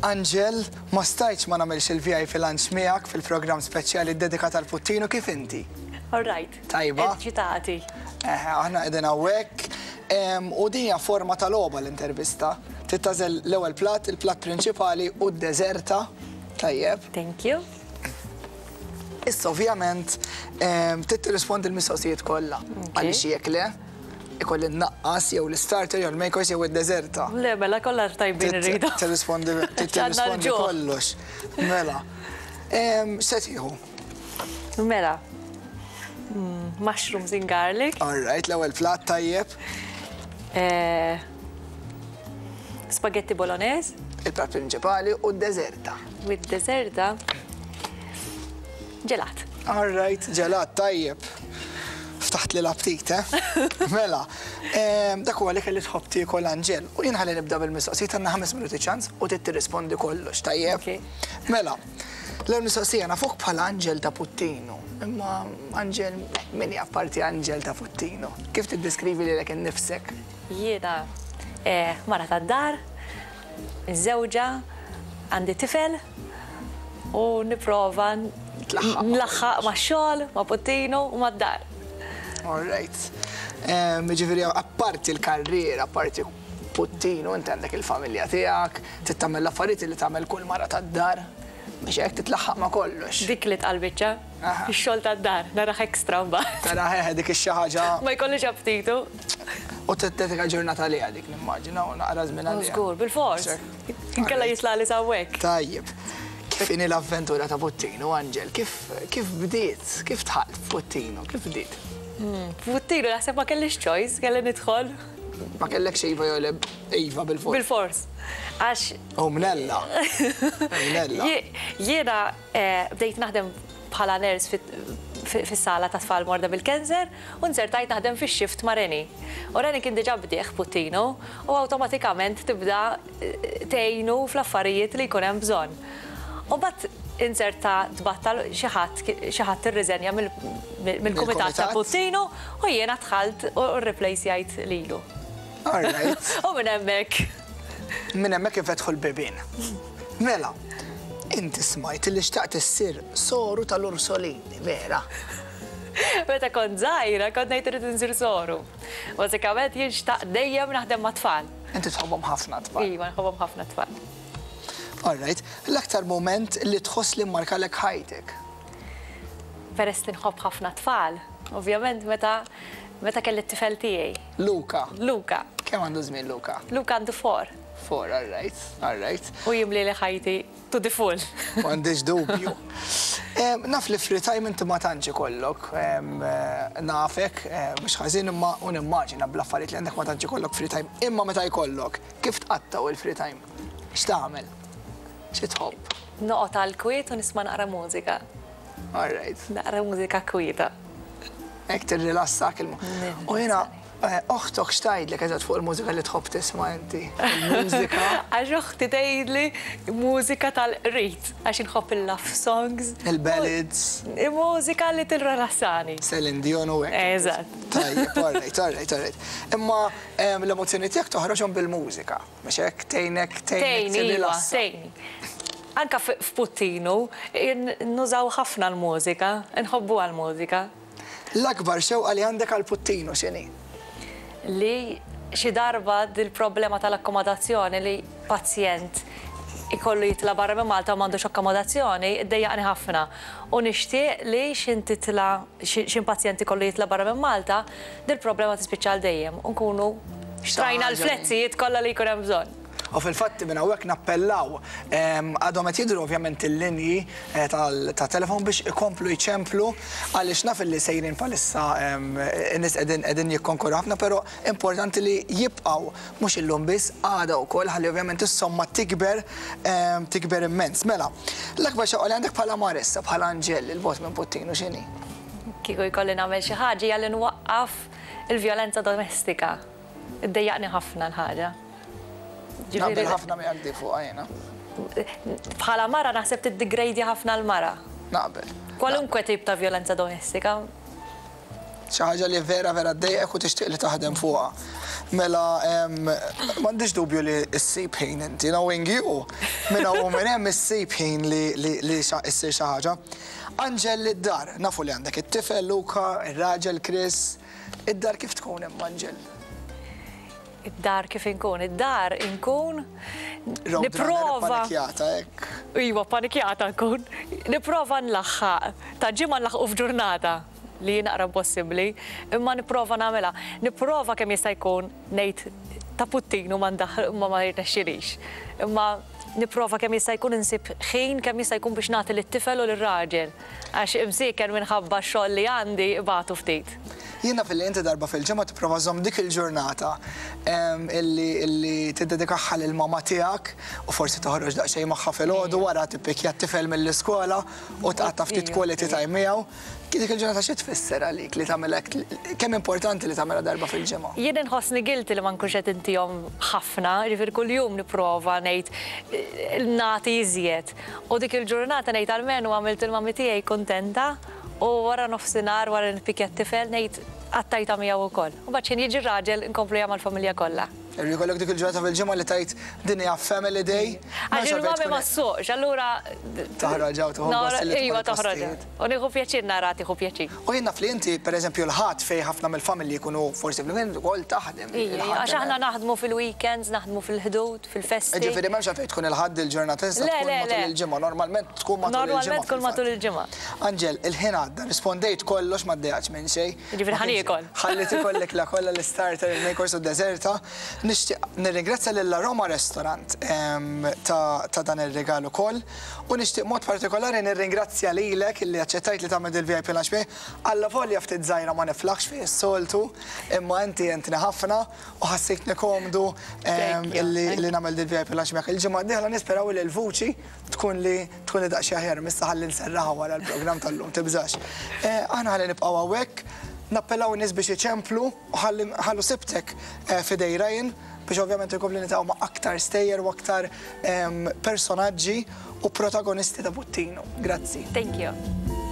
Angel, ma stajtx ma nagħmilx il-VIP Lunch miegħek fil-programm speċjali ddedikat għal Puttinu kif inti? All right. Tajba. Eċitati. Eħe, aħna qegħdin hawnhekk. U din hija forma ta' logħba l-intervista. Trid tagħżel l-ewwel platt, il-platt prinċipali u d-deżerta. Tajjeb. Thank you. Issa ovvjament trid tirrispondi l-mistoqsijiet kollha. Għaliex jekk le, ikolli nnaqqas jew l-istarter jew l-main course jew id-deżerta. Le, mela kollha tajbin irridu. Tirrispondi tirrispondi kollox. Mela. X'se tieħu? Mela. Mm, mushrooms in garlic. All right, l-ewwel platt tajjeb. Eh, spaghetti bolognese. Il-platt prinċipali u d-deżerta. U d-deżerta ġelat. All right, ġelat tajjeb. Ftaħtli l-aptit, eh? Mela, dak huwa l-ikel li tħobb tiekol Anġel. U jien ħalli nibda bil-mistoqsijiet għandna ħames minuti ċans u trid tirrispondi kollox, tajjeb? Mela, l-ewwel mistoqsija nafuk bħala Anġel ta' Puttinu, imma Anġel min hi apparti Anġel ta' Puttinu? Kif tiddeskrivi lilek innifsek? Jiena eh, mara tad-dar, miżżewġa, għandi tifel u nipprova nlaħħaq max-xogħol, ma' Puttinu u mad-dar. All right. Jiġifieri apparti l-karriera, apparti Puttinu, inti għandek il-familja tiegħek, trid tagħmel l-affarijiet li tagħmel kull mara tad-dar biex hekk titlaħħaq ma' kollox. Dik li tqal biċċa. Ix-xogħol tad-dar, narah extra mbagħad. Tarah eħe dik ix-xi ħaġa. Ma jkollix aptitu. U tiddedika ġurnata għaliha dik nimmaġina u naqra żmien għaliha. Żgur, bilfors. Inkella jitlagħli s'hawnhekk. Tajjeb. Kif inhi l-avventura ta' Puttinu, Angel? Kif kif bdiet? Kif dħalt f'Puttinu? Kif bdiet? F'Puttinu naħseb ma kellix choice, kelli nidħol. Ma kellekx iva jew le, iva bilfors. Bilfors. Għax. U mnella. Mnella. Jiena Bdejt naħdem bħala nurse fis-sala tat-tfal morda bil-cancer u nzertajt naħdem fix-shift ma' Rennie. U Rennie kien diġà bdieh Puttinu u awtomatikament tibda tgħinu fl-affarijiet li jkun hemm bżonn. U mbagħad inzerta tbattal xi ħadd xi ħadd irriżenja mill-kumitat ta' Puttinu u jiena dħalt u rreplejsjajt lilu. All right. U minn hemmhekk. Minn hemmhekk infetħu l-bibien. Mela, inti smajt li xtaqt issir soru tal-Ursolini, vera? Meta kont żgħira kont ngħid irrid insir soru. Bażikament jien xtaqt dejjem naħdem mat-tfal. Inti tħobbhom ħafna t-tfal. Iva, nħobbhom ħafna t-tfal. All right. L-aktar mument li tħoss li mmarkalek ħajtek? Peress li nħobb ħafna t-tfal, ovvjament meta meta kelli t-tifel tiegħi. Luca. Luca. Kemm għandu żmien Luca? Luca għandu four. Four, all right, all right. U jimlieli ħajti to the full. M'għandix dubju. Naf li free time inti ma tantx ikollok, nafek, mhux ħażin imma u nimmaġina bl-affarijiet li għandek ma tantx ikollok free time. Imma meta jkollok, kif tqattgħu il-free time? X'tagħmel? Xi tħobb? Noqgħod għall-kwiet u nisma' naqra mużika. All right. Naqra mużika kwieta. Hekk tirrilassak il U jiena eh, oħtok x'tgħidlek eżatt fuq il-mużika li tħobb tisma' inti? Il-mużika. Għax oħti tgħidli mużika tal-qrid, għax inħobb il-love songs. Il-ballads. Mużika li tirrilassani. Celine Dion u hekk. Eżatt. Tajjeb, all right, all right, all right. Imma eh, l-emozzjoni tiegħek toħroġhom bil-mużika. Biex hekk tgħinek tgħinek tirrilassa. Tgħinni, iva, tgħinni. Anke f'Puttinu nużaw ħafna l-mużika, inħobbuha l-mużika. L-akbar xewqa li għandek għal Puttinu x'inhi? Li xi darba dil-problema tal-akkomodazzjoni li pazjent ikollu jitla' barra minn Malta u m'għandux akkomodazzjoni ddejjaqni ħafna u nixtieq li x'in titla' x'in pazjent ikollu jitla' barra minn Malta dil-problema tispiċċa għal dejjem u nkunu xtrajna l-fletzijiet kollha li jkun hemm bżonn. U fil-fatt minn hawnhekk nappellaw, għadhom qed jidhru ovvjament il-linji ta' telefon biex ikomplu jċemplu għaliex naf illi sejrin bħalissa in-nies qegħdin qegħdin jikkonkorru ħafna però importanti li jibqgħu mhux illum biss għada wkoll ħalli ovvjament is-somma tikber tikber immens. Mela, l-akbar xewqa li għandek bħala mara issa, bħala Angel 'il bogħod minn Puttinu x'inhi? Kieku jkolli nagħmel xi ħaġa hija li nwaqqaf il-vjolenza domestika. Iddejjaqni ħafna l-ħaġa. Naqbel ħafna miegħek di fuqha jiena. Bħala mara naħseb tiddigrejdi ħafna l-mara. Naqbel. Kwalunkwe tip ta' vjolenza domestika. Xi ħaġa li vera vera ddejqek u tixtieq li taħdem fuqha. Mela m'għandix dubju li ssib ħin inti, knowing you, minn hawn u minn hemm issib ħin li li issir xi ħaġa. Anġel id-dar, nafu li għandek it-tifel Luca, ir-raġel Chris, id-dar kif tkun imma Anġel? Id-dar kif inkun? Id-dar inkun nipprova. Panikjata hekk. Iva, panikjata nkun. Nipprova nlaħħaq. Ta' ġimgħa nlaħħqu f'ġurnata li hi naqra impossibbli, imma nipprova nagħmilha. Nipprova kemm jista' jkun ngħid ta' Puttinu ma ndaħħal imma ma jirnexxilix. Imma nipprova kemm jista' jkun insib ħin kemm jista' jkun biex nagħti lit-tifel u lir-raġel. Għax imsieken minħabba x-xogħol li għandi ibatu ftit. Jien naf illi inti darba fil-ġimgħa tipprova żżomm dik il-ġurnata illi illi tiddedikaha lill-mama tiegħek u forsi toħroġ daqsxejn magħha filgħodu wara tippikkja t-tifel mill-iskola u tqatta' ftit quality time miegħu. Dik il-ġurnata xi tfisser għalik li tagħmel hekk? Kemm importanti li tagħmilha darba fil-ġimgħa? Jien inħossni guilty li ma nkunx qed intihom ħafna, jiġifieri kuljum nipprova ngħid nagħti iżjed. U dik il-ġurnata ngħid almenu għamilt il-mummy tiegħi kuntenta u wara nofsinhar wara li nippikkja t-tifel ngħid qattajtha miegħu wkoll. U mbagħad x'ħin jiġi r-raġel inkompluha mal-familja kollha. Irrid ikollok dik il-ġurnata fil-ġimgħa li tgħid din hija family day. Għax il-mummy ma ssuqx, allura. Toħroġ hawn tieħu gost li Iva toħroġ. U nieħu pjaċir naraha tieħu pjaċir. U jien naf li inti pereżempju l-Ħadd fejn ħafna mill-familji jkunu forsi fil-weekend ukoll taħdem. Għax aħna naħdmu fil-weekends, naħdmu fil-Ħdud. fil-festi. Jiġifieri m'hemmx għalfejn tkun il-Ħadd il-ġurnata tista' tkun matul il-ġimgħa, normalment tkun matul il-ġimgħa. Normalment tkun matul il-ġimgħa. Anġel, il-ħin għadda, rispondejt kollox ma ddejjaqtx minn xejn. Jiġifieri ħa niekol. Ħallit ikollek l kollha l-istarter, il-main course u d-deżerta. Nixtieq nirringrazzja lil Aroma Restaurant ta' dan ir-rigal ukoll u nixtieq mod partikolari nirringrazzja lilek illi aċċettajt li tagħmel dil-VIP lunch miegħi. Allavolja ftit żgħira ma niflaħx fih is-soltu, imma inti għentni ħafna. U ħassejtni komdu li nagħmel dil VIP lunch miegħek. Il-ġimgħa d-dieħla nisperaw li l-vuċi tkun li tkun li daqsxejn aħjar missa ħalli nserraħha wara l-programm tal-lum, tibżax. Aħna ħalli nibqgħu hawnhekk, nappellaw in-nies biex iċemplu u ħalli nħallu sibtek f'idej Ryan biex ovvjament inkompli niltaqgħu ma' aktar stejjer u aktar personaġġi u protagonisti ta' Puttinu. Grazzi. Thank you.